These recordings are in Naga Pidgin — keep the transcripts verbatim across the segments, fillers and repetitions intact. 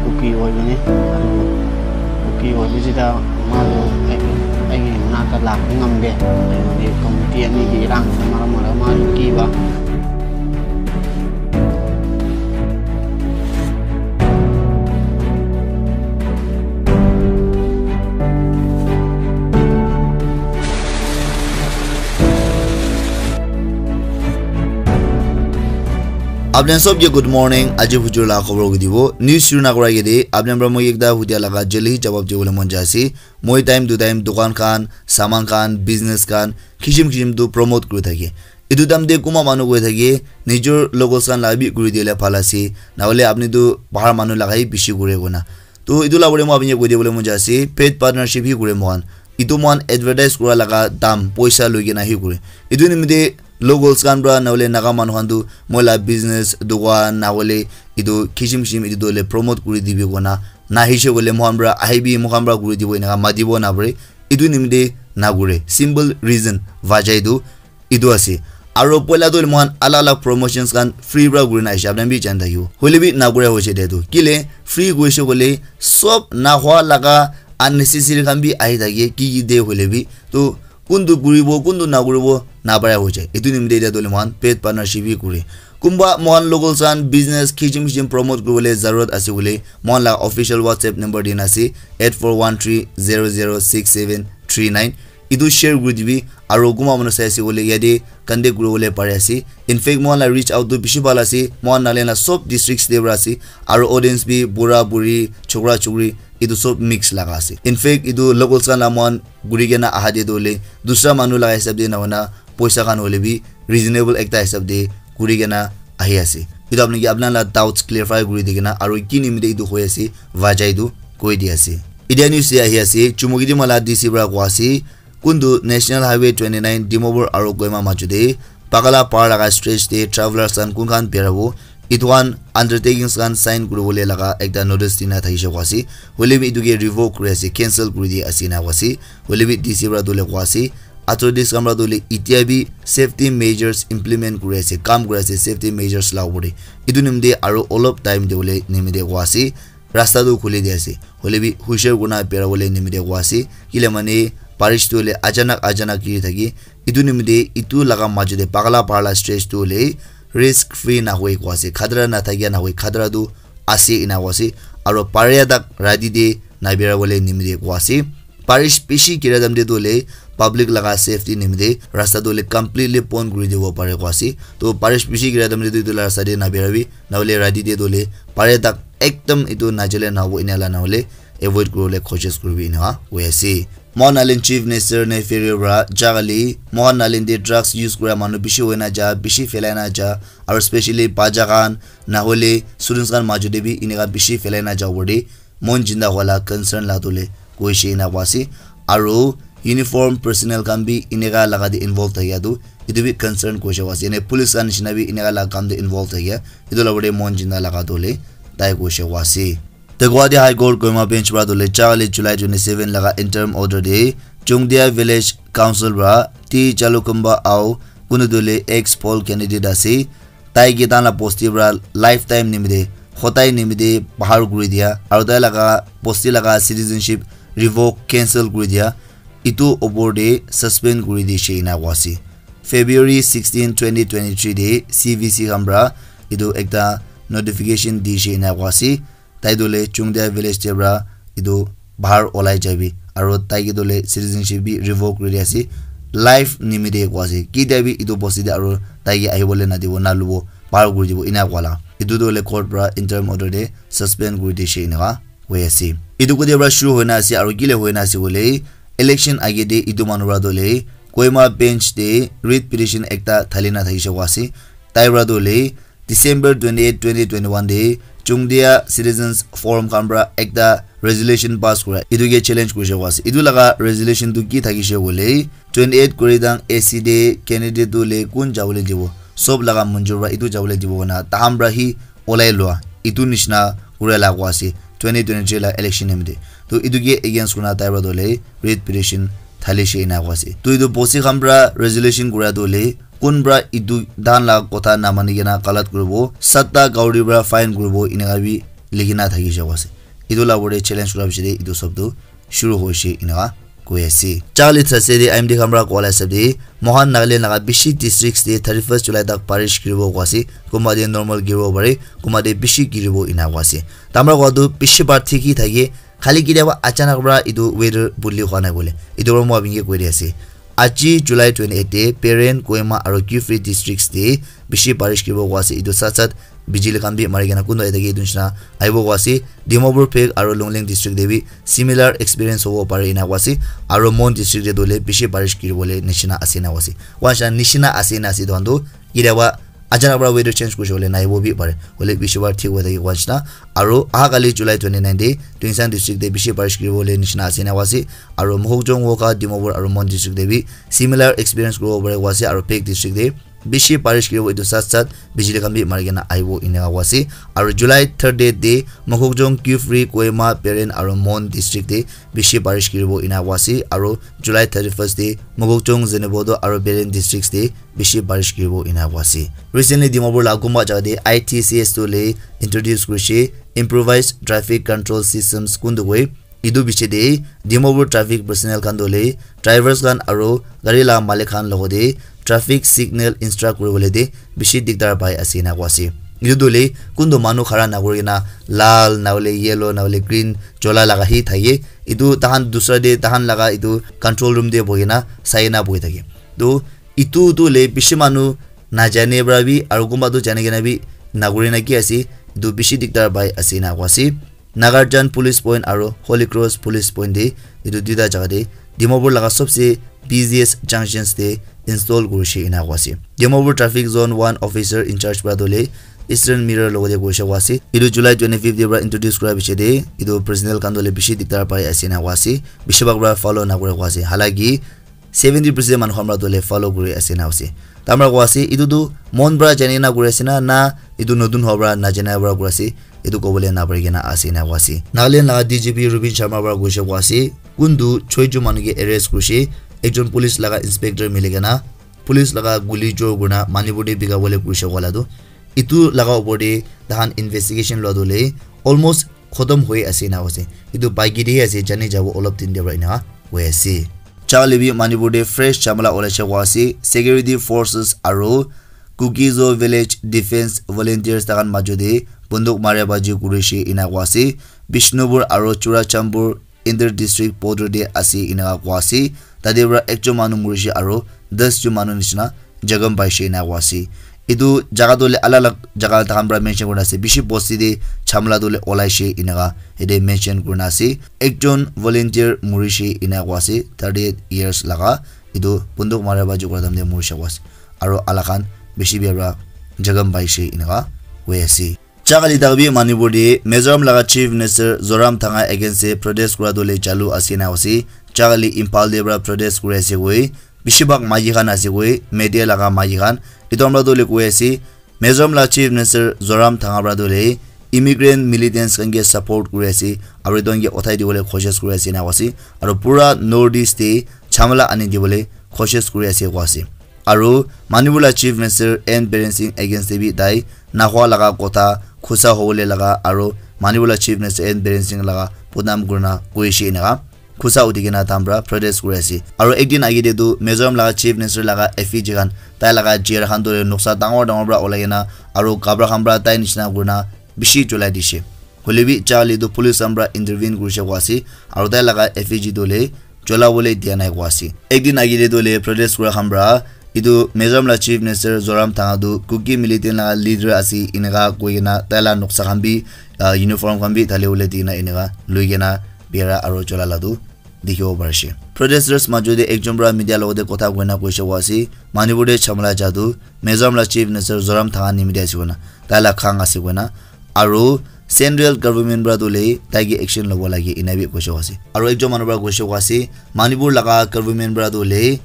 Kuki wai bane, aru Kuki wai bisi ta malu ai ai na ta lak ngam be, ai ni committee ani di rang mara mara malu ki ba. Apni sob ke good morning. Aji hujur la khobor ko dibo. News shuru na kora ke de, apni pra moi ekta hudia laga jali hi jawab dibole mon jai ase. Moi time to time dukan khan, saman khan, business khan, kishim kishim tu promote kuri thake. Etu time te kuma manu koi thake, nijor locals khan la bi kuri dile bhal ase. Na hole apni tu bahar manu laga hi bishi kure kona. To etu la bole moi apni ke koi dibole mon jai ase, paid partnership hi kure mohan. Etu mohan advertise kura laga dam, poisa loi kena hi kure. Etu nimite locals khan pra na hole Naga manu khan tu moi la business, dukan, na hole etu kishim kishim etu tu hole promote kuri dibi kona. Na hishe kole mohan pra ahibi, mohan pra kuri dibo eneka matibo na pare. Etu nimite na kure. Simple reason, wajah etu, etu ase. Aro poila tu mohan alak alak promotions khan free pra kuri na aishe, apni bi jani thakibo. Hoile bi na kura hoise de tu. Kile free koishe kole sob na hua laga unnecessary khan bi ahi thake, ki ki de hoile bi. To kuntu kuribo, kuntu na kuribo, na para hoise. Etu nimite etia tu mohan paid partnership bi kure. Kumba mohan locals khan business kishim kishim promote kuribole zarurat ase koile, mohan la official WhatsApp number dina ase, eight four one three zero zero six seven three nine. Etu share kuri dibi, aro kunba manu sai ase koile yate contact kuribole pari ase. In fact, mohan la reach out tu bishi bhal ase. Mohan Nagaland la sob districts te para ase, aro audience bi bura buri, chokra chokri, etu sob mix laga ase. In fact, etu locals khan la mohan kuri kena aha te tu hoile dusra manu laga hisab te na hoina poisa khan hoile bi reasonable ekta hisab te kuri kena ahi ase. Etu apni ke apna la doubts clarify kuri di kena aro ki nimite etu hoi ase, wajah etu koi di ase. Etia news te ahi ase, Chumoukedima la D C para koa ase, kuntu National Highway twenty nine Dimapur aro Kohima majot te Pakala Pahar laga stretch te travelers khan kun khan berabo, etu khan undertakings khan sign kuribole laga ekta notice dina thakishe koa ase. Hoile bi etu ke revoke kuri ase, cancel kuri di ase ena koa ase. Hoile bi D C para tu hoile koa ase, authorities khan para tu hoile etia bi safety measures implement kuri ase, kam kuri ase safety measures la opor te. Etu nimite aro olop time te hoile nimite koa ase, rasta tu khuli di ase. Hoile bi hushar kurina berabole nimite koa ase. Kile mane barish tu hoile achanak achanak giri thake. Etu nimite etu laga majot te Pakala Pahar la stretch tu hoile risk free na hoi koa ase. Khatara na thakia na hoi, khatara tu ase ena koa ase. Aro paria tak rati te na berabole nimite koa ase. Barish bishi gira time te tu hoile public laga safety nimite rasta tu hoile completely bon kuri dibo pare koa ase. To barish bishi gira time te tu etu la rasta te na berabi, na hoile rati te tu hoile paria tak ekdam etu najale na hobo, ena la na hoile avoid kuribole koshish kuribi ena koi ase. Mohan Nagaland Chief Minister Neiphiu Rio para jagali Mohan Nagaland te drugs use kura manu bishi hoina ja, bishi phelai na ja, aro specially bacha khan na hoile students khan majot te bi eneka bishi phelai na ja opor te mon jinda hoila concern la tu hoile koishe ena koa ase. Aro uniform personnel khan bi eneka laga te involve thakia tu etu bi concern koishe koa ase. Ene police khan nishina bi eneka laga kam te involve thakia etu la opor te mon jinda laga tu hoile tai koishe koa ase. The Guwahati High Court Kohima Bench para tu hoile jagali July twenty seven laga interim order te Chungdia Village Council para T Jalukumba Ao, kunu tu hoile ex poll candidate ase, tai ke tai la bosti para lifetime nimite, hodai nimite bahar kuri dia, aro tai laga bosti laga citizenship revoke, cancel kuri dia, etu opor te suspend kuri dishe ena koa ase. February sixteen, twenty twenty-three te C V C khan para etu ekta notification dishe ena koa ase. Tai tu hoile Chungdia village te para etu bahar olai jaibi, aro tai ke tu hoile citizenship bi revoke kuri dia ase. Life nimite koa ase, kitia bi etu bosti te aro tai ke ahibole na dibo, na lobo, bahar kuri dibo, ena koa la. Etu tu hoile court para interim order te suspend kuri dishe eneka hoi ase. Etu kote para shuru hoina ase, aro kile hoina ase koile, election age te etu manu para tu hoile Kohima bench te writ petition ekta thali na thakishe koa ase. Tai para tu hoile December twenty eight, twenty twenty one te Chungdia Citizens Forum khan para ekta resolution pass kura, etu ke challenge kurishe koa ase. Etu laga resolution tu ki thakishe koile, twenty eight Koirigdang A C te candidate tu hoile kun jabole dibo, sob laga manjur para etu jabole dibo koina tahan para hi olai lua, etu nishina kura la koa ase twenty twenty three la election nimite. To etu ke against kurina tai para tu hoile writ petition thalishe ena koa ase. To etu bosti khan para resolution kura tu hoile kun para etu tahan la kotha na mani kena galat kuribo, satta kauri para fine kuribo, eneka bi likhina thakishe koa ase. etu la opor te challenge kura piche te etu sob tu shuru hoise eneka koi ase. Charli Thursday te I M D khan para koa la hisab te mohan Nagaland laga bishi districts te thirty first July tak barish giribo koa ase, kunba te normal giribo pare, kunba te bishi giribo ena koa ase. Tamra koa tu bishi bar thik hi thake, khali kitiaba achanak para etu weather bodli hua nai bole, etu para moi apni ke koi di ase. Aji July twenty eight te Peren, Kohima aru Kiphire districts te bishi barish giribo koa ase. Etu sat sat bijili khan bi mari kena kunba ete ke etu nishina ahibo koa ase. Dimapur Phek aru Longleng district te bi similar experience hobo pare ena koa ase. Aru Mon district te tu hoile bishi barish giribole nishina ase ena koa ase. Koa nishina, nishina ase ena ase etu khan tu kitiaba achanak para weather change kurise koile nahibo bi pare. Hoile bishi bar thik hoi thake koa nishina. Aru aha kali July twenty nine te Tuensang district te bishi barish giribole nishina ase ena koa ase. Aru Mokokchung, Wokha, Dimapur aru Mon district te bi similar experience kuribo pare koa ase. Aru Phek district te bishi barish giribo, etu sat sat bijili khan bi mari kena ahibo eneka koa ase. Aru July thirty te Mokokchung, Kiphire, Kohima, Peren aru Mon district te bishi barish giribo ena koa ase. Aru July thirty first te Mokokchung, Zunheboto aru Peren districts te bishi barish giribo ena koa ase. Recently Dimapur la kunba jaga te I T C S tu hoile introduce kurise, improvised traffic control systems kun tu koi. Etu piche te Dimapur traffic personnel khan tu hoile drivers khan aru gari la malik khan logote traffic signal instruct kuribole te bishi dikdar pai ase ena koa ase. Etu tu hoile kuntu manu khara nakuri kena lal nahole yellow nahole green chola laga hi thake. Etu tahan dusra te tahan laga etu control room te bohi kena sai kena bohi thake. Tu etu tu hoile bishi manu najane para bi aru kunba tu jani kena bi nakuri na ki ase, etu bishi dikdar pai ase ena koa ase. Nagarjan Police Point aru Holy Cross Police Point te etu duita jaga te Dimapur laga sobse busiest junctions te install kurise ena koa ase. Dimapur Traffic Zone one officer in charge para tu hoile Eastern Mirror logote koise koa ase. Etu July twenty fifth te para introduce kura piche te etu personnel khan tu hoile bishi dikdar pai ase ena koa ase. Bishi bhag para follow nakura koa ase. Halaki seventy percent manu khan para tu hoile follow kuri ase ena ase. Tamra koa ase, etu tu mon para jani na kuri ase na, na etu notun howa para najana para kuri ase, etu kobole na pari kena ase ena koa ase. Nagaland laga D G P Rupin Sharma para koise koa ase, kuntu choi jon manu ke arrest kurise, ekjon police laga inspector mili kena police laga guli jor kurina Manipur te bika bole kurise koa la tu. Etu laga opor te tahan investigation lua tu hoile almost khotom hoi ase ena ase. Etu baiki te ase, jani jabo olop din te para ena hoi ase. Charli bi Manipur te fresh jhamala olaise koa ase. Security forces aru Kuki-Zo village defense volunteers takan majo te bunduk mara baji kurise ena koa ase. Bishnupur aru Churachandpur inter district border te ase ena koa ase. Tate para ekjon manu murise aru das jon manu nishina jakham paise ena koa ase. Etu jaga tu hoile alag alag jaga tahan para mention kurina ase. Bishi bosti te jhamala tu hoile olaise eneka yate mention kurina ase. Ekjon volunteer murise ena koa ase, thirty eight years laga. Etu bunduk mara baji kura time te murise koa ase. Aru alak khan bishi bia para jakham paise eneka hoi ase. Jagali tak bi Manipur te Mizoram laga Chief Minister Zoram Thanga against te protest kura tu hoile chalu ase ena ase. Jagali Imphal te para protest kuri ase koi. Bishi bhag maiki khan ase koi, media laga maiki khan. Etu amra tu hoile koi ase, Mizoram la Chief Minister Zoram Thanga para tu hoile immigrant militants khan ke support kuri ase, aru etu khan ke uthai dibole koshish kuri ase ena koa ase, aru pura North East te jhamala ani dibole koshish kuri ase koa ase. Aru Manipur la Chief Minister N Biren Singh against te bi tai nahua laga kotha khusa hobole laga aru Manipur la Chief Minister N Biren Singh laga bodnam kurina koishe eneka khusa uthi kena tahan para protest kuri ase. Aru ekdin age te tu Mizoram laga Chief Minister laga effigy khan, tai laga chair khan tu noksa dangor dangor para ulai kena aru kapra khan para tai nishina kurina bishi cholai dishe. Hoile bi jagali tu police khan para intervene kurishe koa ase. Aru tai laga effigy tu hoile cholabole dia nai koa ase. Ekdin age te tu hoile protest kura khan para etu Mizoram la Chief Minister Zoram Thanga tu Kuki militant laga leader ase eneka koi kena tai la noksa khan bi, ah, uniform khan bi thali bole di kena eneka lui kena biara aru chola la tu dikhibo parishe. Protesters majo te ekjon para media logote kotha koina koishe koa ase, Manipur te jhamala ja tu Mizoram la Chief Minister Zoram Thanga nimite ase koina, tai la khang ase koina, aru central government para tu hoile tai ke action lobo lage ena bi koishe koa ase. Aru ekjon manu para koishe koa ase, Manipur laga government para tu hoile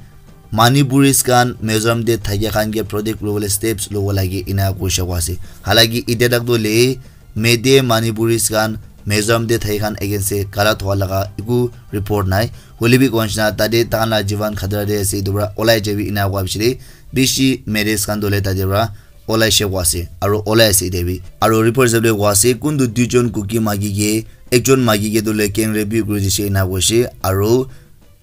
Manipuris khan Mizoram te thakia khan ke protect kuribole steps lobo lage ena koishe koa ase. Halaki etia tak tu hoile Meitei Manipuris khan Mizoram te thaki khan against te galat hua laga eku report nai. Hoile bi koa nishina tate tahan la jivan khatara te ase, etu para olai jabi ena koa piche te bishi Meiteis khan tu hoile tate para olaishe koa ase, aro olai ase etia bi. Aro report hisab te koa ase, kuntu duijon Kuki maiki ke ekjon maiki ke tu le gang rape bi kuri dishe ena koishe, aro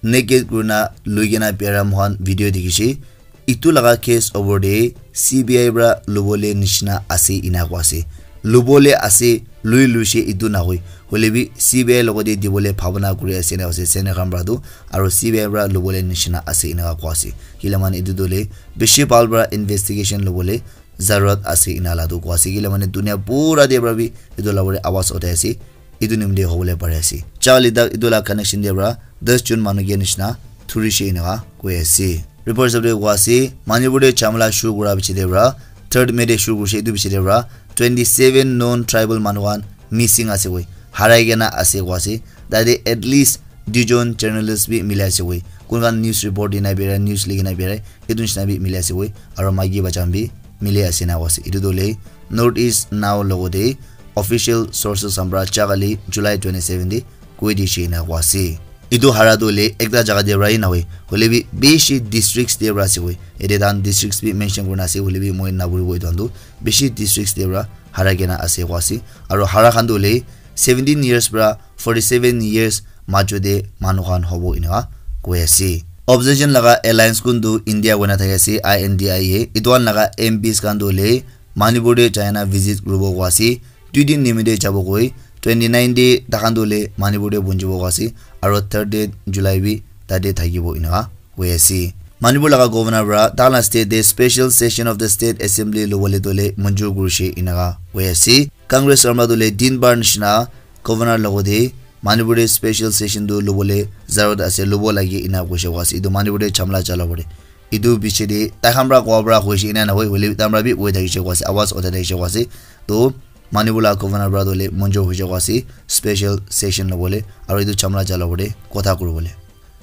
naked kurina lui kena biara moikhan video dikhishe. Etu laga case opor te C B I para lobole nishina ase ena koa ase. Lobole ase, lui luishe etu nahoi. Hoile bi C B I logote dibole bhabana kuri ase ena ase, Senator khan para tu. Aro C B I para lobole nishina ase ena koa ase. Kile mane etu tu le bishi bhal para investigation lobole zarurat ase ena la tu koa ase. Kile mane dunia pura te para bi etu la pore awaz uthai ase. Etu nimite hobole pari ase. Charlie dak etu la connection te para das jon manu ke nishina thurishe ena koi ase. Report hisab te koa ase, Manipur te jhamala shuru kura piche te para, third May te shuru kurishe, etu piche te para twenty seven known tribal manu khan missing ase koi, harai kena ase koa ase. Tate at least duijon journalist bi mili ase koi. Kun khan news report dina birai, news likhi na birai, etu nishina bi mili ase koi. Aro maiki bacha khan bi mili ase na koa ase. Etu tu le North East Now logote official sources khan para ja kali July twenty seven te koi dishe ena koa ase. Etu hara tu hoile ekta jaga te para hi nahoi, hoile bi bishi districts te para ase koi. Ete tahan districts bi mention kurina ase, hoile bi moi napuribo etu khan tu. Bishi districts te para hara kena ase koa ase. Aro hara khan tu hoile seventeen years para forty seven years majo te manu khan hobo ena koi ase. Opposition laga alliance kuntu India koina thaki ase, I N D I A. Etu khan laga M Ps khan tu hoile Manipur te jaina visit kuribo koa ase. Dui din nimite jabo koi, twenty nine te takhan tu hoile Manipur te punchibo koa ase, aro thirty July bi tate thakibo enaka koi ase. Manipur laga governor para takhan la state te special session of the state assembly lobole tu hoile manjur kurishe enaka koi ase. Congress khan para tu hoile din bar nishina governor logote Manipur te special session tu lobole zarurat ase, lobo lage ena koishe koa ase. Etu Manipur te jhamala chala pore. Etu piche te tai khan para koa para hoishe ena nahoi, hoile bi tai khan para bi hoi thakishe koa ase, awaz uthai thakishe koa ase. To Manipur la governor para tu hoile manjur hoishe koa ase special session lobole, aro etu jhamala chala pore kotha kuribole.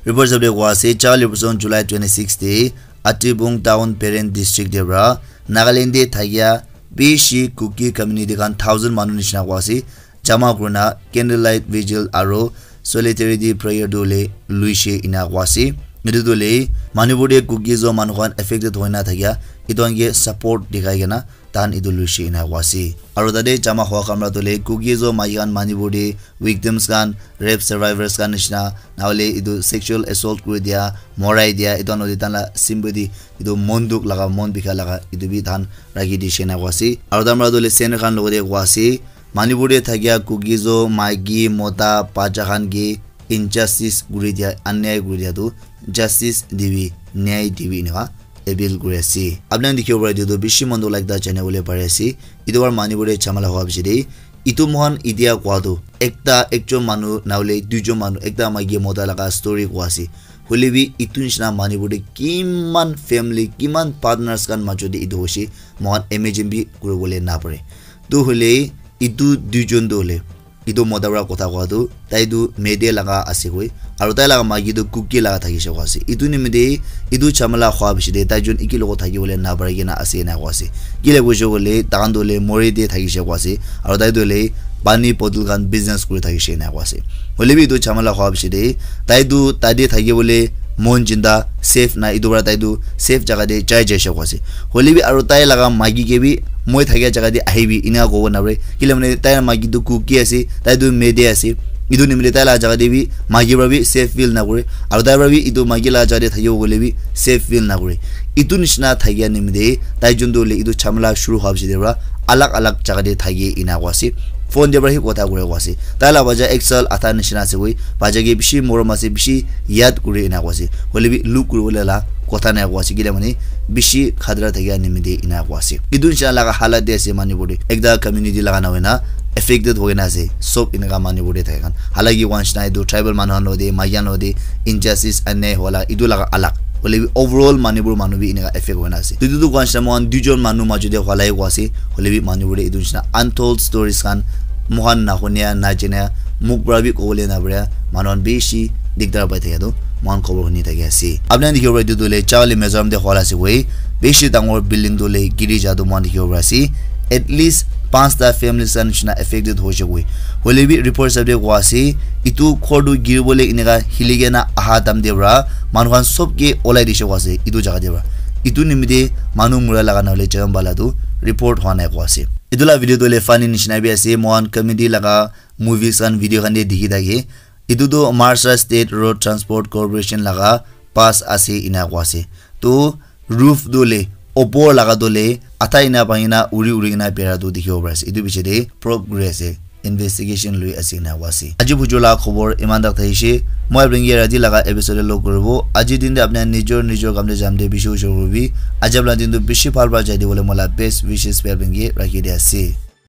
Report hisab te koa ase, ja kali person July twenty six te Atibung Town Peren District te para Nagaland te thakia bishi Kuki community khan thousand manu nishina koa ase, jama kurina candlelight vigil aro solidarity prayer tu hoile luishe ena koa ase. Etu tu hoile Manipur te Kuki Zo manu khan affected hoina thakia etu khan ke support dikhai kena tahan etu luishe ena koa ase. Aro tate jama hoa khan para tu hoile Kuki Zo maiki khan Manipur te victims khan, rape survivors khan nishina, nahole etu sexual assault kuri dia, morai dia, etu khan hoile tahan la sympathy, etu mon dukh laga, mon bikha laga, etu bi tahan rakhi dishe ena koa ase. Aro tahan para tu hoile Senator khan logote koa ase, Manipur te thakia Kuki Zo maiki, mota, bacha khan ke injustice kuri dia, anyay kuri dia tu justice dibi, nyay dibi enaka appeal kuri ase. Apni khan dikhibo para etu tu bishi mon dukh laga ekta janibole pari ase. Etu para Manipur te jhamala hoa piche te, etu moikhan etia koa tu ekta, ekjon manu nahole duijon manu, ekta maiki mota laga story koa ase. Hoile bi etu nishina Manipur te kiman family, kiman partners khan majo te etu hoishe, moikhan imagine bi kuribole napare. Tu hoile etu duijon tu hoile etu mota para kotha koa tu, tai tu Meitei laga ase koi, aro tai laga maiki tu Kuki laga thakishe koa ase. Etu nimite etu jhamala hoa piche te tai jon eki logot thakibole napari kena ase ena koa ase. Kile koishe koile, takhan tu hoile Moreh te thakishe koa ase, aro tai tu hoile pani bottle khan business kuri thakishe ena koa ase. Hoile bi etu jhamala hoa piche te tai tu tate thakibole mon jinda safe nai, etu para tai tu safe jaga te jai jaishe koa ase. Hoile bi aro tai laga maiki ke bi moi thakia jaga te ahibi ena kobo napare. Kile mane tai la maiki tu Kuki ase, tai tu Meitei ase. Etu nimite tai la jaga te bi maiki para bi safe feel nakure. Aro tai para bi etu maiki la jaga te thakibo koile bi safe feel nakure. Etu nishina thakia nimite tai jon tu hoile etu jhamala shuru hoa piche te para alag alag jaga te thaki ena koa ase. Phone te para hi kotha kure koa ase. Tai la bacha ek saal adha nishina ase koi. Bacha ke bishi morom ase, bishi yaad kure ena koa ase. Hoile bi look kuribole la kotha nai koa ase. Kile mane bishi khatara thakia nimite ena koa ase. Etu nishina laga halat te ase Manipur te. Ekta community laga na hoina affected hoina ase. Sob enaka Manipur te thaka khan. Halaki koa nishina etu tribal manu khan logote, maiki khan logote injustice, anyay hola, etu laga alag. Hoile bi overall Manipur manu bi enaka affect hoina ase. Etu tu koa nishina moikhan duijon manu majo te hola he koa ase. Hoile bi Manipur te etu nishina untold stories khan moikhan nahunia, najania, muk para bi kobole napare, manu khan bishi dikdar pai thakia tu moikhan khobor huni thaki ase. Apni khan dikhibo para etu tu hoile Charli Mizoram te hola ase koi, bishi dangor building tu hoile giri ja tu moikhan dikhibo para ase. At least panchta families khan nishina affected hoishe koi. Hoile bi report hisab te koa ase, etu ghor tu giribole enaka hili kena aha time te para manu khan sob ke olai dishe koa ase etu jaga te para. Etu nimite manu mura laga na hoile jagan bala tu report hua nai koa ase. Etu la video tu hoile funny nishina bi ase, mohan comedy laga movies khan video khan te dikhi thake. Etu tu Maharashtra State Road Transport Corporation laga pass ase ena koa ase. Tu roof tu le opor laga tu le atha ena bhangi na uri uri kena bera tu dikhibo pari ase. Etu piche te probe kuri ase, investigation lui ase ena koa ase. Aji bujur laga khobor iman tak thaishe. Moi apni ke rati laga episode te log kuribo. Aji din te apni nijor nijor kam te jam te bishi ushor kuribi. Aji apni din tu bishi bhal bhal jai de bole moi la best wishes bi apni ke rakhi de ase.